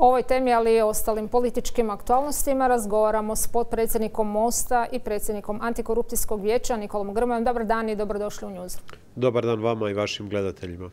ovoj temi, ali i ostalim političkim aktualnostima razgovaramo s potpredsjednikom Mosta i predsjednikom Antikorupcijskog vijeća Nikolom Grmojom. Dobar dan i dobrodošli u Newsroom. Dobar dan vama i vašim gledateljima.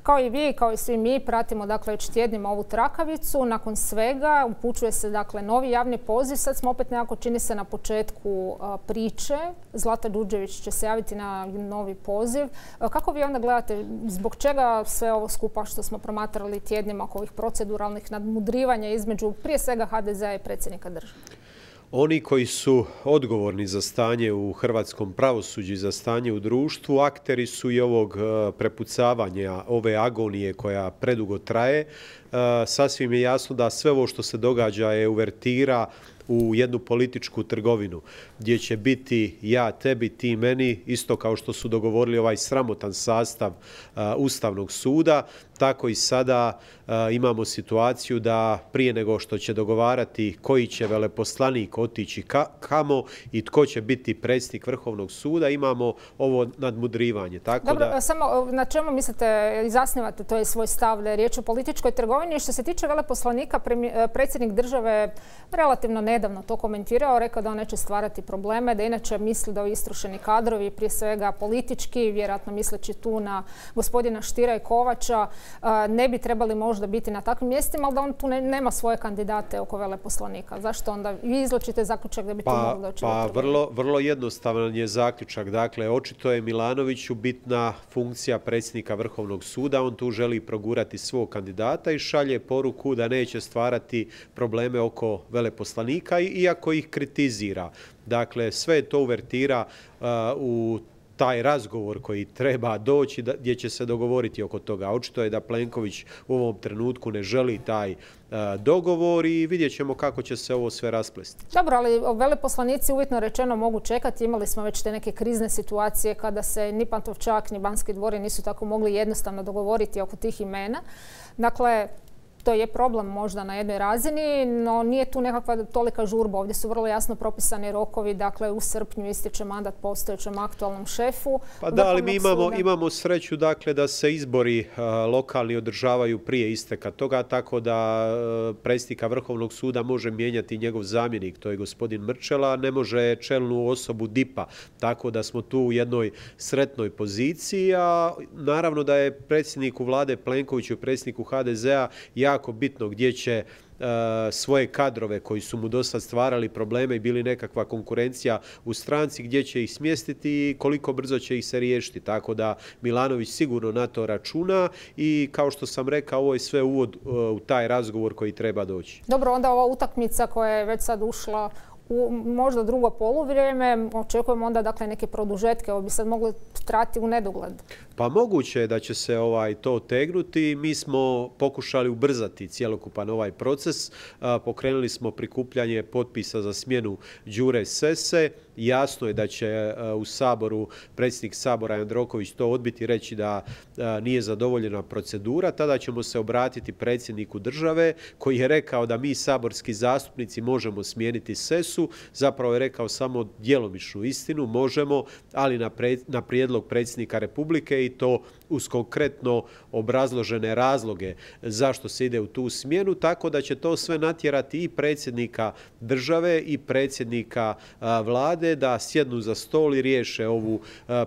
Kao i vi, kao i svi mi, pratimo već tjednima ovu trakavicu. Nakon svega upućuje se novi javni poziv. Sad smo opet nekako, čini se, na početku priče. Zlata Đurđević će se javiti na novi poziv. Kako vi onda gledate, zbog čega sve ovo skupa što smo promatrali tjednima oko ovih proceduralnih nadmudrivanja između prije svega HDZ-a i predsjednika države? Oni koji su odgovorni za stanje u hrvatskom pravosuđu i za stanje u društvu, akteri su i ovog prepucavanja, ove agonije koja predugo traje. Sasvim je jasno da sve ovo što se događa je uvertira u jednu političku trgovinu gdje će biti ja tebi, ti meni, isto kao što su dogovorili ovaj sramotan sastav Ustavnog suda, tako i sada imamo situaciju da prije nego što će dogovarati koji će veleposlanik otići kamo i tko će biti predsjednik Vrhovnog suda, imamo ovo nadmudrivanje. Dobro, samo na čemu mislite i zasnivate to je svoj stav da je riječ o političkoj trgovini? Što se tiče veleposlanika, predsjednik države relativno nedavno to komentirao, rekao da on neće stvarati probleme, da inače misli da ovi istrošeni kadrovi, prije svega politički, vjerojatno misleći tu na gospodina Štira i Kovača, ne bi trebali možda biti na takvim mjestima, ali da on tu nema svoje kandidate oko veleposlanika. Zašto onda vi izvlačite zaključak da bi tu moglo doći? Vrlo jednostavan je zaključak. Dakle, očito je Milanoviću bitna funkcija predsjednika Vrhovnog suda. On tu želi progurati svog kandidata i šalje poruku da neće stvarati probleme oko veleposlanika, iako ih kritizira. Dakle, sve to uvertira u taj razgovor koji treba doći gdje će se dogovoriti oko toga. Očito je da Plenković u ovom trenutku ne želi taj dogovor i vidjet ćemo kako će se ovo sve rasplesti. Dobro, ali veleposlanici uvjetno rečeno mogu čekati. Imali smo već te neke krizne situacije kada se ni Pantovčak ni Banski dvori nisu tako mogli jednostavno dogovoriti oko tih imena. Dakle, to je problem možda na jednoj razini, no nije tu nekakva tolika žurba. Ovdje su vrlo jasno propisani rokovi, dakle u srpnju ističe mandat postojećem aktualnom šefu. Pa da, ali mi imamo sreću dakle da se izbori lokalni održavaju prije isteka toga, tako da predsjednika Vrhovnog suda može mijenjati njegov zamjenik, to je gospodin Mrčela, ne može čelnu osobu DIP-a, tako da smo tu u jednoj sretnoj poziciji, a naravno da je predsjedniku vlade Plenkoviću i predsjedniku HDZ-a jako bitno gdje će svoje kadrove koji su mu dosad stvarali probleme i bili nekakva konkurencija u stranci, gdje će ih smjestiti i koliko brzo će ih se riješiti. Tako da Milanović sigurno na to računa i kao što sam rekao, ovo je sve uvod u taj razgovor koji treba doći. Dobro, onda ova utakmica koja je već sad ušla u možda drugo poluvrijeme, očekujemo onda dakle neke produžetke, ovo bi sad moglo trati u nedogled. Pa moguće je da će se to otegnuti. Mi smo pokušali ubrzati cjelokupan ovaj proces. Pokrenuli smo prikupljanje potpisa za smjenu Đure Sesse. Jasno je da će u Saboru predsjednik Sabora Jandroković to odbiti, reći da nije zadovoljena procedura. Tada ćemo se obratiti predsjedniku države koji je rekao da mi saborski zastupnici možemo smijeniti Sessu. Zapravo je rekao samo djelomičnu istinu, možemo, ali na prijedlog predsjednika Republike i to uz konkretno obrazložene razloge zašto se ide u tu smjenu, tako da će to sve natjerati i predsjednika države i predsjednika vlade da sjednu za stol i riješe ovu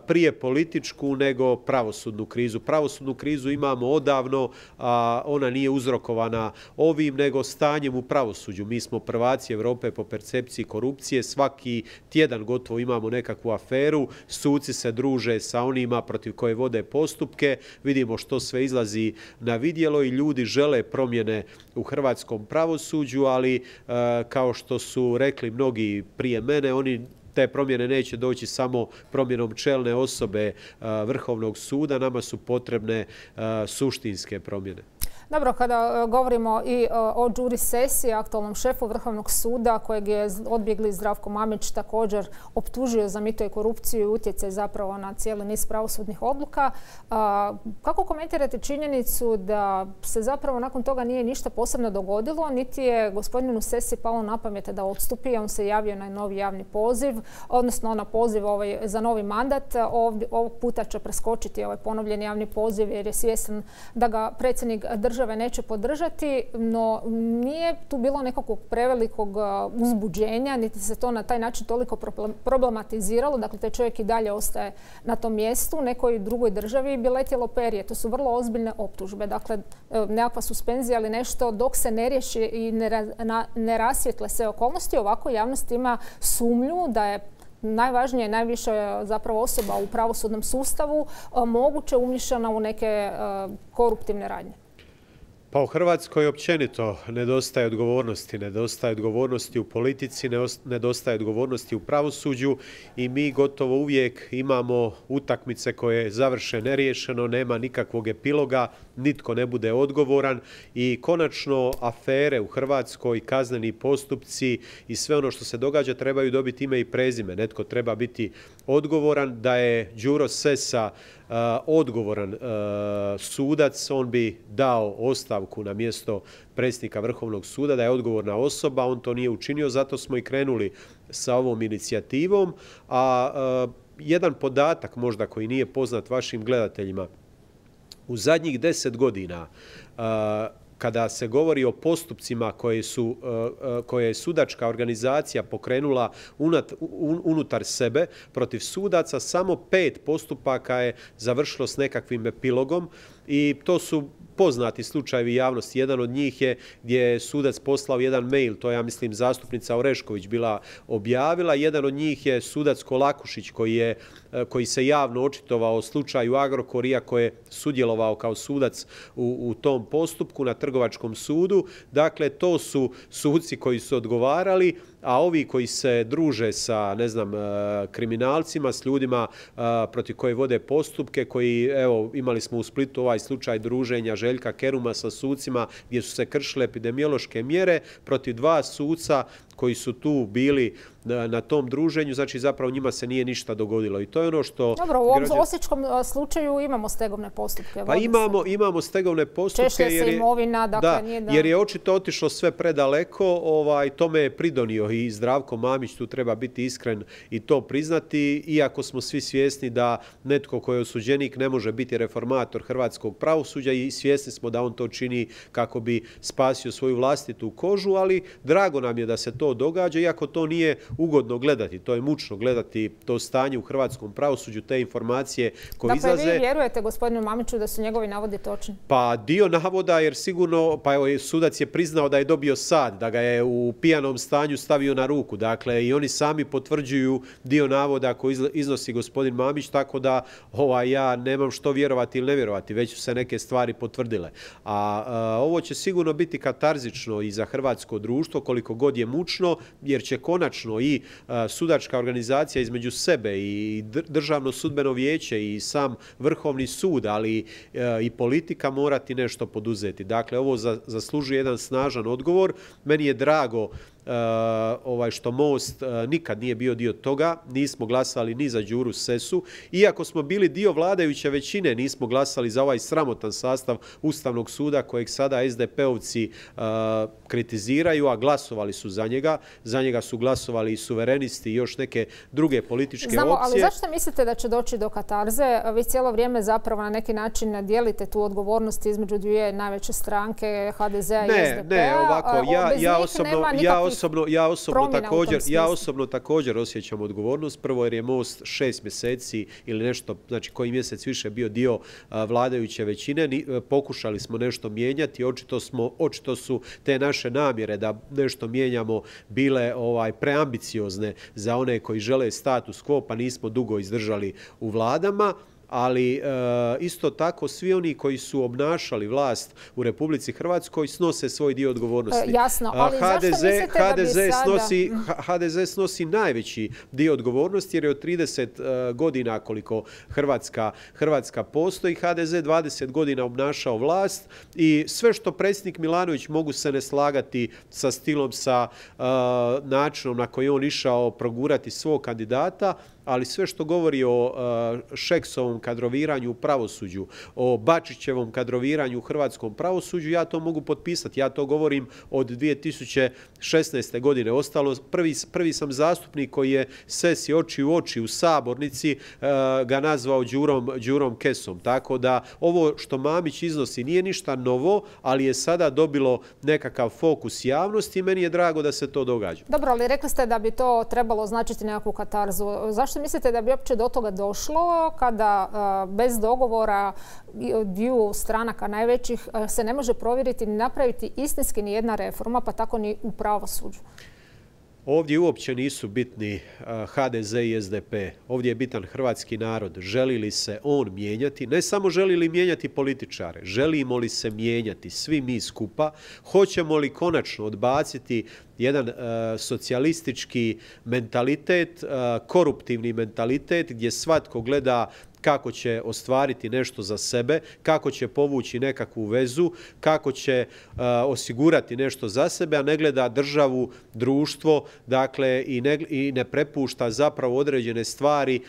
prije političku nego pravosudnu krizu. Pravosudnu krizu imamo odavno, a ona nije uzrokovana ovim nego stanjem u pravosuđu. Mi smo prvaci Europe po percepciji korupcije, svaki tjedan gotovo imamo nekakvu aferu, suci se druže sa onima protiv koje vode postupke, vidimo što sve izlazi na vidjelo i ljudi žele promjene u hrvatskom pravosuđu, ali kao što su rekli mnogi prije mene, te promjene neće doći samo promjenom čelne osobe Vrhovnog suda, nama su potrebne suštinske promjene. Dobro, kada govorimo i o Đuri Sessi, aktualnom šefu Vrhovnog suda, kojeg je odbjegli Zdravko Mamić također optužio za mito i korupciju i utjecaj zapravo na cijeli niz pravosudnih odluka. Kako komentirate činjenicu da se zapravo nakon toga nije ništa posebno dogodilo, niti je gospodinu Sessi palo na pamet da odstupi, on se javio na novi javni poziv, odnosno na poziv za novi mandat. Ovog puta će preskočiti ovaj ponovljeni javni poziv jer je svjestan da ga predsjednik države države neće podržati, no nije tu bilo nekakvog prevelikog uzbuđenja, niti se to na taj način toliko problematiziralo. Dakle, taj čovjek i dalje ostaje na tom mjestu. Nekoj drugoj državi bi letjelo perje. To su vrlo ozbiljne optužbe. Dakle, nekakva suspenzija ili nešto dok se ne riješi i ne rasvijetle sve okolnosti. Ovako javnost ima sumnju da je najvažnije, najviše zapravo osoba u pravosudnom sustavu moguće umiješana u neke koruptivne radnje. Pa u Hrvatskoj općenito nedostaje odgovornosti u politici, nedostaje odgovornosti u pravosuđu i mi gotovo uvijek imamo utakmice koje završe neriješeno, nema nikakvog epiloga, nitko ne bude odgovoran i konačno afere u Hrvatskoj, kazneni postupci i sve ono što se događa trebaju dobiti ime i prezime. Netko treba biti odgovoran. Da je Đuro Sessa odgovoran sudac, on bi dao ostavku na mjesto predsjednika Vrhovnog suda, da je odgovorna osoba, on to nije učinio, zato smo i krenuli sa ovom inicijativom. A jedan podatak možda koji nije poznat vašim gledateljima, u zadnjih 10 godina kada se govori o postupcima koje je sudačka organizacija pokrenula unutar sebe protiv sudaca, samo 5 postupaka je završilo s nekakvim epilogom i to su poznati slučajevi javnosti. Jedan od njih je gdje je sudac poslao jedan mail, to je, ja mislim, zastupnica Orešković bila objavila. Jedan od njih je sudac Kolakušić koji se javno očitovao o slučaju Agrokor, iako je sudjelovao kao sudac u tom postupku na Trgovačkom sudu. Dakle, to su suci koji su odgovarali, a ovi koji se druže sa, ne znam, kriminalcima, s ljudima protiv koje vode postupke, koji, evo, imali smo u Splitu ovaj slučaj druženja Željka Keruma sa sucima gdje su se kršile epidemiološke mjere protiv 2 suca koji su tu bili na tom druženju, znači zapravo njima se nije ništa dogodilo. I to je ono što... Dobro, u ovom osječkom slučaju imamo stegovne postupke. Pa imamo stegovne postupke. Češlja se imovina, dakle nije da... Jer je očito otišlo sve predaleko, tome je pridonio i Zdravko Mamić, tu treba biti iskren i to priznati, iako smo svi svjesni da netko koji je osuđenik ne može biti reformator hrvatskog pravosuđa i svjesni smo da on to čini kako bi spasio svoju vlastitu kožu, ali drago nam je da se to događa, iako to nije ugodno gledati, to je mučno gledati to stanje u hrvatskom pravosuđu, te informacije koje izlaze. Dakle, vi vjerujete gospodinu Mamiću da su njegovi navodi točni? Pa dio navoda, jer sigurno, pa evo, sudac je priznao da je dobio sad, da ga je u pijanom stanju stavio na ruku. Dakle, i oni sami potvrđuju dio navoda koji iznosi gospodin Mamić, tako da ja nemam što vjerovati ili ne vjerovati, već su se neke stvari potvrdile. A ovo će sigurno biti katarzično i za hrvatsko društvo, koliko god je mučno, jer će konačno i sudačka organizacija između sebe i Državno sudbeno vijeće i sam Vrhovni sud, ali i politika morati nešto poduzeti. Dakle, ovo zaslužuje jedan snažan odgovor. Meni je drago što Most nikad nije bio dio toga, nismo glasali ni za Đuru Sessu, iako smo bili dio vladajuće većine, nismo glasali za ovaj sramotan sastav Ustavnog suda kojeg sada SDP-ovci kritiziraju, a glasovali su za njega su glasovali i suverenisti i još neke druge političke opcije. Znamo, ali zašto mislite da će doći do katarze? Vi cijelo vrijeme zapravo na neki način dijelite tu odgovornost između dvije najveće stranke, HDZ-a i SDP-a. Ne, ovako, ja osobno također osjećam odgovornost. Prvo jer je Most 6 mjeseci ili nešto, znači koji mjesec više bio dio vladajuće većine. Pokušali smo nešto mijenjati, očito su te naše namjere da nešto mijenjamo bile preambiciozne za one koji žele status quo, pa nismo dugo izdržali u vladama. Ali isto tako svi oni koji su obnašali vlast u Republici Hrvatskoj snose svoj dio odgovornosti. Jasno, ali zašto mislite da bi sada... HDZ snosi najveći dio odgovornosti jer je od 30 godina koliko Hrvatska postoji, HDZ 20 godina obnašao vlast i sve što predsjednik Milanović, mogu se ne slagati sa stilom, sa načinom na koji on išao progurati svog kandidata, ali sve što govori o Šeksovom kadroviranju u pravosuđu, o Bačićevom kadroviranju u hrvatskom pravosuđu, ja to mogu potpisati. Ja to govorim od 2016. godine. Ostalo, prvi sam zastupnik koji je Sesi oči u oči u sabornici ga nazvao Đurom Kesom. Tako da ovo što Mamić iznosi nije ništa novo, ali je sada dobilo nekakav fokus javnosti i meni je drago da se to događa. Dobro, ali rekli ste da bi to trebalo značiti nekakvu katarzu. Zašto mislite da bi uopće do toga došlo kada bez dogovora dviju stranaka najvećih se ne može provjeriti ni napraviti istinski ni jedna reforma, pa tako ni u pravosuđu? Ovdje uopće nisu bitni HDZ i SDP. Ovdje je bitan hrvatski narod. Želi li se on mijenjati? Ne samo želi li mijenjati političare, želimo li se mijenjati svi mi skupa? Hoćemo li konačno odbaciti jedan socijalistički mentalitet, koruptivni mentalitet gdje svatko gleda kako će ostvariti nešto za sebe, kako će povući nekakvu vezu, kako će osigurati nešto za sebe, a ne gleda državu, društvo, dakle i ne prepušta zapravo određene stvari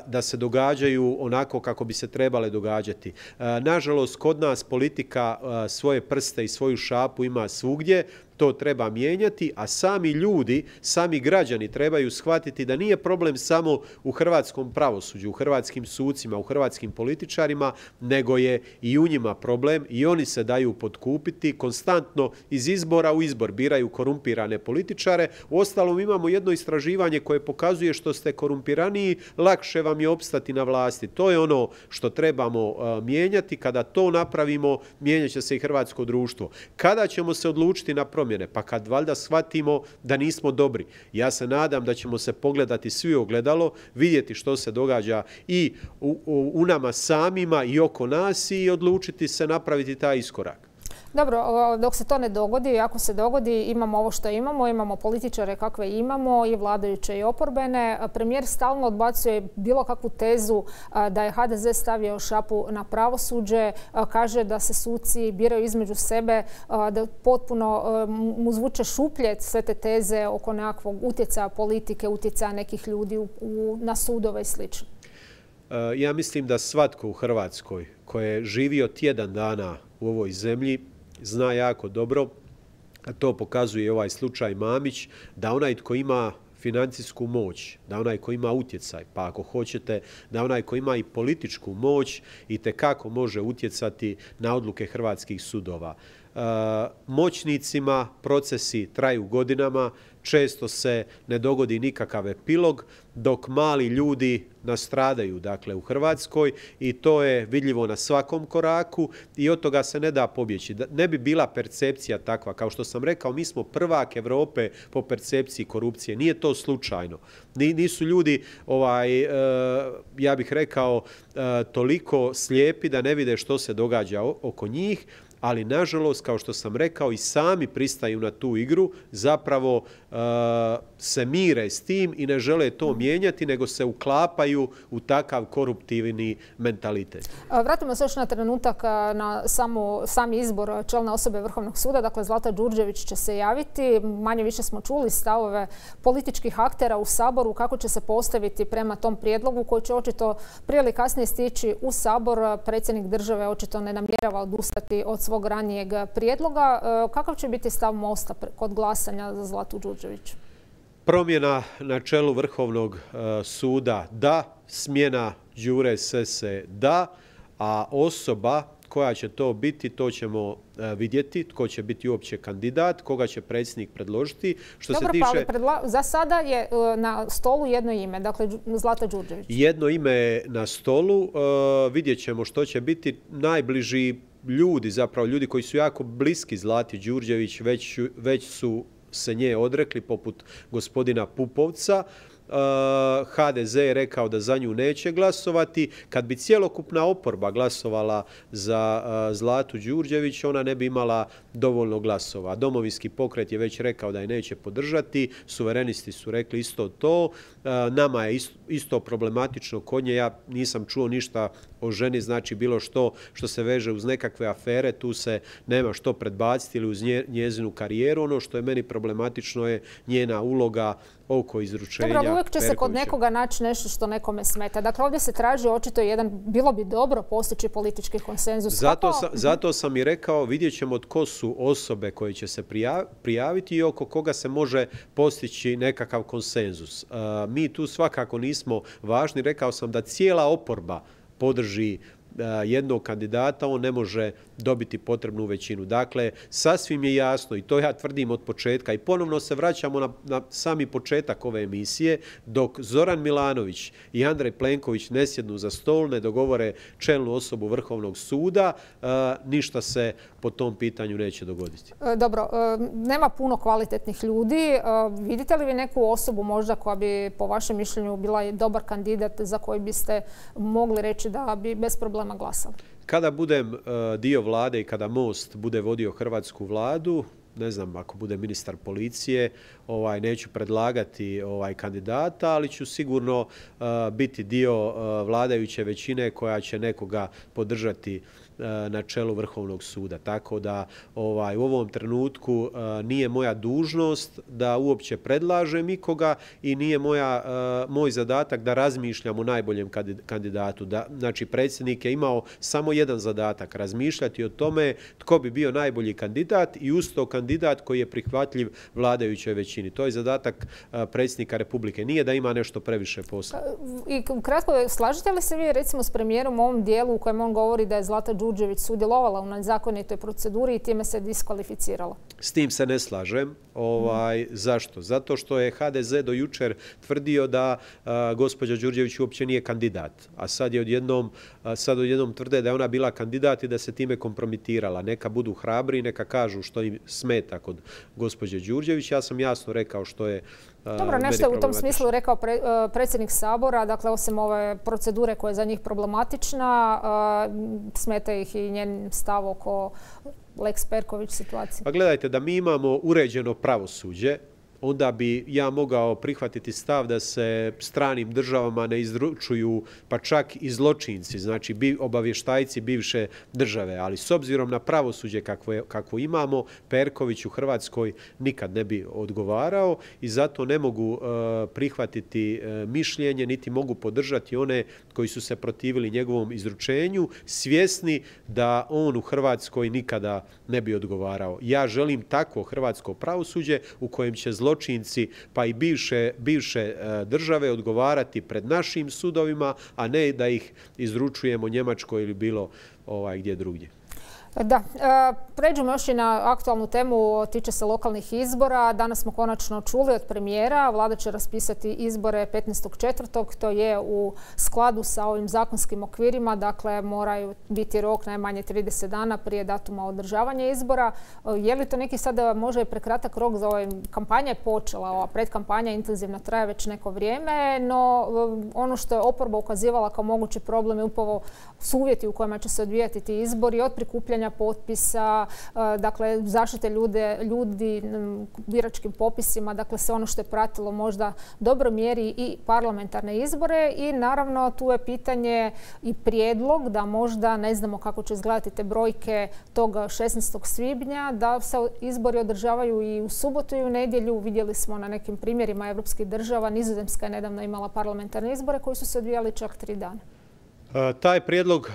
da se događaju onako kako bi se trebale događati. Nažalost, kod nas politika svoje prste i svoju šapu ima svugdje. To treba mijenjati, a sami ljudi, sami građani trebaju shvatiti da nije problem samo u hrvatskom pravosuđu, u hrvatskim sucima, u hrvatskim političarima, nego je i u njima problem i oni se daju potkupiti, konstantno iz izbora u izbor biraju korumpirane političare. Uostalom imamo jedno istraživanje koje pokazuje što ste korumpiraniji, lakše vam je opstati na vlasti. To je ono što trebamo mijenjati. Kada to napravimo, mijenjat će se i hrvatsko društvo. Kada ćemo se odlučiti na promjene? Pa kad valjda shvatimo da nismo dobri. Ja se nadam da ćemo se pogledati svi u ogledalo, vidjeti što se događa i u nama samima i oko nas i odlučiti se napraviti taj iskorak. Dobro, dok se to ne dogodi, ako se dogodi, imamo ovo što imamo, imamo političare kakve imamo i vladajuće i oporbene. Premijer stalno odbacuje bilo kakvu tezu da je HDZ stavio šapu na pravosuđe, kaže da se suci biraju između sebe, da potpuno mu zvuče šuplje sve te teze oko nekakvog utjecaja politike, utjecaja nekih ljudi na sudove i sl. Ja mislim da svatko u Hrvatskoj koji je živio tjedan dana u ovoj zemlji zna jako dobro, a to pokazuje i ovaj slučaj Mamić, da onaj tko ima financijsku moć, da onaj ko ima utjecaj, pa ako hoćete da onaj ko ima i političku moć itekako može utjecati na odluke hrvatskih sudova. Moćnicima procesi traju godinama, često se ne dogodi nikakav epilog, dok mali ljudi nastradaju, dakle, u Hrvatskoj i to je vidljivo na svakom koraku i od toga se ne da pobjeći. Ne bi bila percepcija takva. Kao što sam rekao, mi smo prvak Europe po percepciji korupcije. Nije to slučajno. Nisu ljudi, ja bih rekao, toliko slijepi da ne vide što se događa oko njih, ali nažalost, kao što sam rekao, i sami pristaju na tu igru, zapravo se mire s tim i ne žele to mijenjati, nego se uklapaju u takav koruptivni mentalitet. Vratimo se još na trenutak na sami izbor čelne osobe Vrhovnog suda. Dakle, Zlata Đurđević će se javiti. Manje više smo čuli stavove političkih aktera u Saboru kako će se postaviti prema tom prijedlogu koji će očito prije ili kasnije stići u Sabor. Predsjednik države očito ne namjerava odustati od svog ranijeg prijedloga. Kakav će biti stav MOST-a kod glasanja za Zlatu Đurđević? Promjena na čelu Vrhovnog suda da, smjena Đure Sesse da, a osoba koja će to biti, to ćemo vidjeti, tko će biti uopće kandidat, koga će predsjednik predložiti. Dobro, pa za sada je na stolu jedno ime, dakle Zlata Đurđević. Jedno ime je na stolu, vidjet ćemo što će biti. Najbliži ljudi, zapravo ljudi koji su jako bliski Zlati Đurđević, već su se nje odrekli, poput gospodina Pupovca. HDZ je rekao da za nju neće glasovati. Kad bi cjelokupna oporba glasovala za Zlatu Đurđević, ona ne bi imala dovoljno glasova. Domovinski pokret je već rekao da je neće podržati, suverenisti su rekli isto to. Nama je isto problematično kod nje. Ja nisam čuo ništa o ženi, znači bilo što se veže uz nekakve afere, tu se nema što predbaciti ili uz njezinu karijeru. Ono što je meni problematično je njena uloga oko izručenja. Dobro, uvijek će se kod nekoga naći nešto što nekome smeta. Dakle, ovdje se traži očito bilo bi dobro postići politički konsenzus. Zato sam i rekao, vidjet ćemo tko su osobe koje će se prijaviti i oko koga se može postići nekakav konsenzus. Mi tu svakako nismo važni. Rekao sam da cijela oporba podrži jednog kandidata, on ne može dobiti potrebnu većinu. Dakle, sasvim je jasno i to ja tvrdim od početka i ponovno se vraćamo na sami početak ove emisije, dok Zoran Milanović i Andrej Plenković ne sjednu za stol, ne dogovore čelnu osobu Vrhovnog suda, ništa se po tom pitanju neće dogoditi. Dobro, nema puno kvalitetnih ljudi. Vidite li vi neku osobu možda koja bi po vašem mišljenju bila dobar kandidat za koji biste mogli reći da bi bez problema glasali? Kada budem dio vlade i kada Most bude vodio hrvatsku vladu, ne znam, ako bude ministar policije, neću predlagati kandidata, ali ću sigurno biti dio vladajuće većine koja će nekoga podržati na čelu Vrhovnog suda. Tako da u ovom trenutku nije moja dužnost da uopće predlažem ikoga i nije moj zadatak da razmišljam o najboljem kandidatu. Znači, predsjednik je imao samo jedan zadatak, razmišljati o tome tko bi bio najbolji kandidat i uz to kandidat koji je prihvatljiv vladajućoj većini. To je zadatak predsjednika Republike. Nije da ima nešto previše posla. I kratko, slažete li se vi recimo s premijerom u ovom dijelu u kojem on govori da je Zlata Đurđević sudjelovala u nezakonitoj proceduri i time se diskvalificirala? S tim se ne slažem. Zašto? Zato što je HDZ do jučer tvrdio da gospođa Đurđević uopće nije kandidat. A sad odjednom tvrde da je ona bila kandidat i da se time kompromitirala. Neka budu hrabri i neka kažu što im smeta kod gospođe Đurđević. Ja sam jasno rekao što je Dobro, nešto je u tom smislu rekao predsjednik Sabora, dakle osim ove procedure koja je za njih problematična, smeta ih i njen stav oko Lex Perković situacije. Pa gledajte, da mi imamo uređeno pravosuđe, onda bi ja mogao prihvatiti stav da se stranim državama ne izručuju pa čak i zločinci, znači obavještajci bivše države. Ali s obzirom na pravosuđe kakvo imamo, Perković u Hrvatskoj nikad ne bi odgovarao i zato ne mogu prihvatiti mišljenje, niti mogu podržati one koji su se protivili njegovom izručenju, svjesni da on u Hrvatskoj nikada ne bi odgovarao. Ja želim takvo hrvatsko pravosuđe u kojem će zločinci pa i bivše države odgovarati pred našim sudovima, a ne da ih izručujemo Njemačkoj ili bilo gdje drugdje. Da, pređemo još i na aktualnu temu, tiče se lokalnih izbora. Danas smo konačno čuli od premijera, vlada će raspisati izbore 15.4. To je u skladu sa ovim zakonskim okvirima, dakle moraju biti rok najmanje 30 dana prije datuma održavanja izbora. Je li to neki sada možda i prekratak rok za ovaj kampanja je počela, ova predkampanja intenzivno traje već neko vrijeme, no ono što je oporba ukazivala kao mogući problem je upravo su uvjeti u kojima će se odvijati ti izbori, od prikupljanja potpisa, dakle zaštite ljudi biračkim popisima, dakle sve ono što je pratilo možda dobro mjeri i parlamentarne izbore i naravno tu je pitanje i prijedlog da možda ne znamo kako će izgledati te brojke tog 16. svibnja, da se izbori održavaju i u subotu i u nedjelju. Vidjeli smo na nekim primjerima evropskih država, Nizozemska je nedavno imala parlamentarne izbore koji su se odvijali čak 3 dana. Taj prijedlog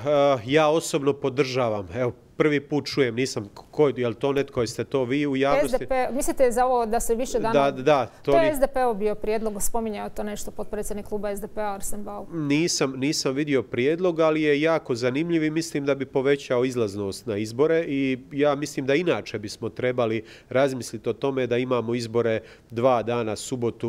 ja osobno podržavam. Evo, prvi put čujem, nisam, je li to netko, jeste to vi u javnosti? SDP, mislite za ovo da se više dana... Da. To je SDP-ov bio prijedlog, spominjao to nešto potpredsjednik kluba SDP-a Arsen Bauk. Nisam vidio prijedlog, ali je jako zanimljiv i mislim da bi povećao izlaznost na izbore i ja mislim da inače bismo trebali razmisliti o tome da imamo izbore 2 dana,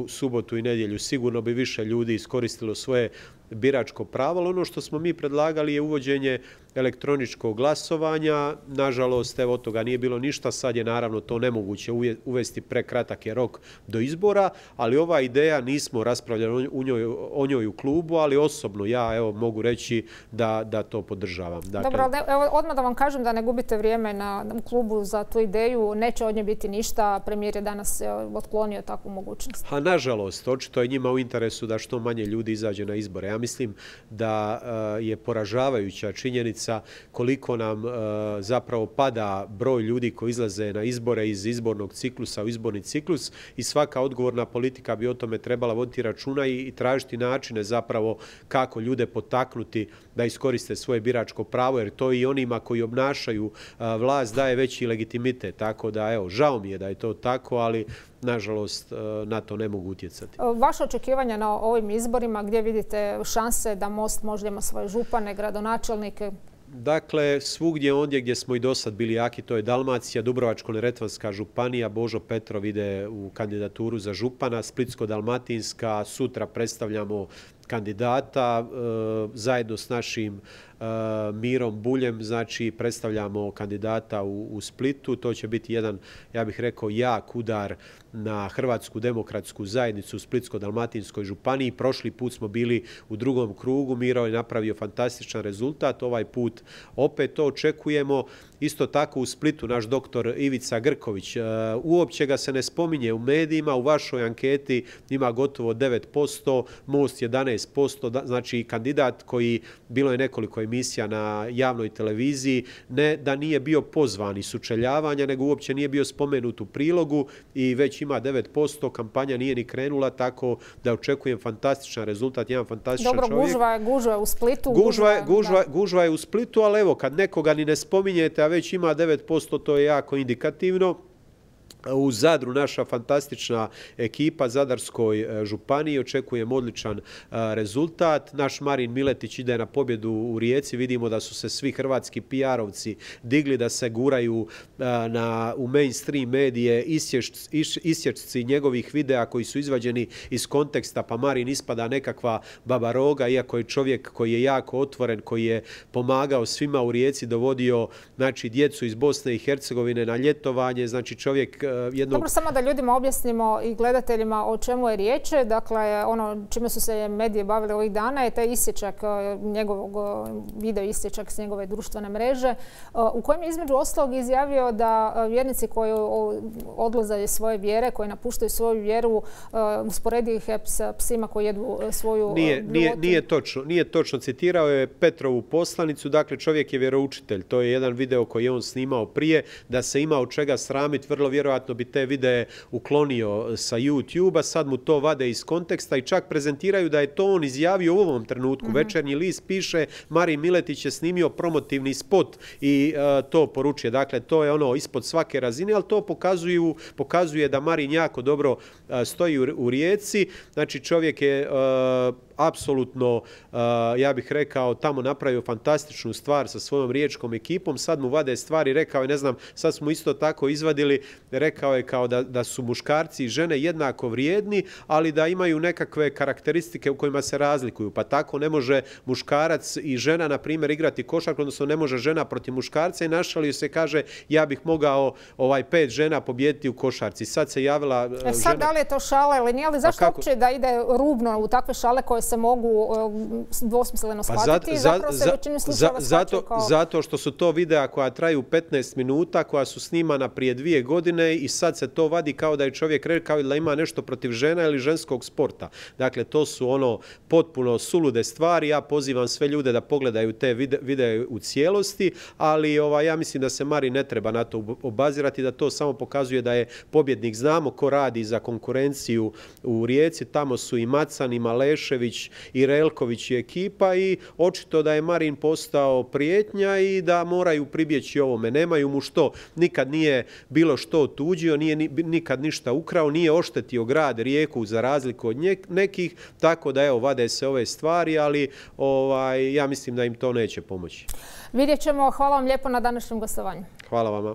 subotu i nedjelju. Sigurno bi više ljudi iskoristilo svoje biračko pravo, ali ono što smo mi predlagali je uvođenje elektroničkog glasovanja. Nažalost, evo od toga nije bilo ništa, sad je naravno to nemoguće uvesti, prekratak je rok do izbora, ali ova ideja, nismo raspravljali o njoj u klubu, ali osobno ja evo mogu reći da to podržavam. Dakle, dobro, evo odmah da vam kažem da ne gubite vrijeme u klubu za tu ideju, neće od nje biti ništa, premijer je danas otklonio takvu mogućnost. A nažalost, očito je njima u interesu da što manje ljudi izađe na izbore. Ja mislim da je poražavajuća činjenica koliko nam zapravo pada broj broj ljudi koji izlaze na izbore iz izbornog ciklusa u izborni ciklus i svaka odgovorna politika bi o tome trebala voditi računa i tražiti načine zapravo kako ljude potaknuti da iskoriste svoje biračko pravo, jer to i onima koji obnašaju vlast daje veći legitimitet. Tako da, evo, žao mi je da je to tako, ali nažalost na to ne mogu utjecati. Vaše očekivanja na ovim izborima, gdje vidite šanse da Most možda ima svoje župane, gradonačelnike? Dakle, svugdje ondje gdje smo i do sad bili jaki, to je Dalmacija, Dubrovačko-neretvanska županija, Božo Petrov ide u kandidaturu za župana, Splitsko-dalmatinska, sutra predstavljamo kandidata zajedno s našim Mirom Buljem, znači predstavljamo kandidata u Splitu. To će biti jedan, ja bih rekao, jak udar na Hrvatsku demokratsku zajednicu u Splitsko-dalmatinskoj županiji. Prošli put smo bili u drugom krugu, Miro je napravio fantastičan rezultat, ovaj put opet to očekujemo. Isto tako u Splitu naš doktor Ivica Grković, uopće ga se ne spominje u medijima, u vašoj anketi ima gotovo 9%, Most 11%, znači kandidat koji, bilo je nekoliko emisija na javnoj televiziji, ne da nije bio pozvan iz sučeljavanja, nego uopće nije bio spomenut u prilogu i već ima 9%, kampanja nije ni krenula, tako da očekujem fantastičan rezultat, jedan fantastičan čovjek. Dobro, gužva je u Splitu. Gužva je u Splitu, ali evo, kad nekoga ni ne spominjete, a već ima 9%, to je jako indikativno. U Zadru naša fantastična ekipa Zadarskoj županiji, očekujem odličan rezultat. Naš Marin Miletić ide na pobjedu u Rijeci, vidimo da su se svi hrvatski PR-ovci digli da se guraju u mainstream medije isječci njegovih videa koji su izvađeni iz konteksta, pa Marin ispada nekakva babaroga, iako je čovjek koji je jako otvoren, koji je pomagao svima u Rijeci, dovodio znači djecu iz Bosne i Hercegovine na ljetovanje, znači čovjek Dobro, samo da ljudima objasnimo i gledateljima o čemu je riječ. Dakle, ono čime su se medije bavili ovih dana je taj isječak njegovog video isječak s njegove društvene mreže u kojem je između ostalog izjavio da vjernici koji odlaze iz svoje vjere, koji napuštaju svoju vjeru, usporedi ih s psima koji jedu svoju Nije točno. Citirao je Petrovu poslanicu, dakle čovjek je vjeroučitelj. To je jedan video koji je on snimao prije, da se ima od čega sramiti, vrlo vjerojatno bi te videe uklonio sa YouTube-a, sad mu to vade iz konteksta i čak prezentiraju da je to on izjavio u ovom trenutku. Večernji list piše Marin Miletić je snimio promotivni spot i to poručuje. Dakle, to je ono ispod svake razine, ali to pokazuje da Marin jako dobro stoji u Rijeci. Znači, čovjek je apsolutno, ja bih rekao, tamo napravio fantastičnu stvar sa svojom riječkom ekipom. Sad mu vade stvari, rekao je, ne znam, sad smo isto tako izvadili, rekao je kao da su muškarci i žene jednako vrijedni, ali da imaju nekakve karakteristike u kojima se razlikuju. Pa tako ne može muškarac i žena, na primjer, igrati košarku, odnosno ne može žena protiv muškarca i našalio se, kaže, ja bih mogao 5 žena pobijediti u košarci. Sad se javila žena... Sad da li je to šala ili nije, ali zašto uopće da ide rubno u takve šale koje se mogu dvosmisleno shvatiti? Zapravo se većinu slučajeva shvaćaju kao... Zato što su to videa koja traju 15 minuta, koja su snimana prije 2 godine i sad se to vadi kao da je čovjek rekao da ima nešto protiv žena ili ženskog sporta. Dakle, to su ono potpuno sulude stvari. Ja pozivam sve ljude da pogledaju te videe u cijelosti, ali ja mislim da se Marin ne treba na to obazirati, da to samo pokazuje da je pobjednik. Znamo ko radi za konkurenciju u Rijeci, tamo su i Macan, i Malešević, i Relković i ekipa i očito da je Marin postao prijetnja i da moraju pribjeći ovome. Nemaju mu što, nikad nije bilo što otuđio, nije nikad ništa ukrao, nije oštetio grad Rijeku za razliku od nekih, tako da evo, vade se ove stvari, ali ja mislim da im to neće pomoći. Vidjet ćemo. Hvala vam lijepo na današnjem gostovanju. Hvala vama.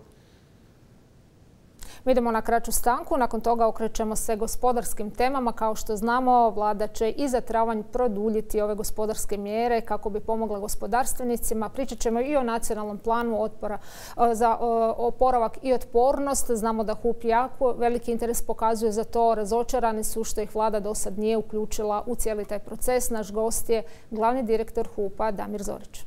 Mi idemo na kraću stanku, nakon toga okrećemo se gospodarskim temama. Kao što znamo, vlada će i za travanj produljiti ove gospodarske mjere kako bi pomogla gospodarstvenicima. Pričat ćemo i o nacionalnom planu za oporavak i otpornost. Znamo da HUP jako veliki interes pokazuje za to. Razočarani su što ih vlada do sad nije uključila u cijeli taj proces. Naš gost je glavni direktor HUP-a Damir Zorić.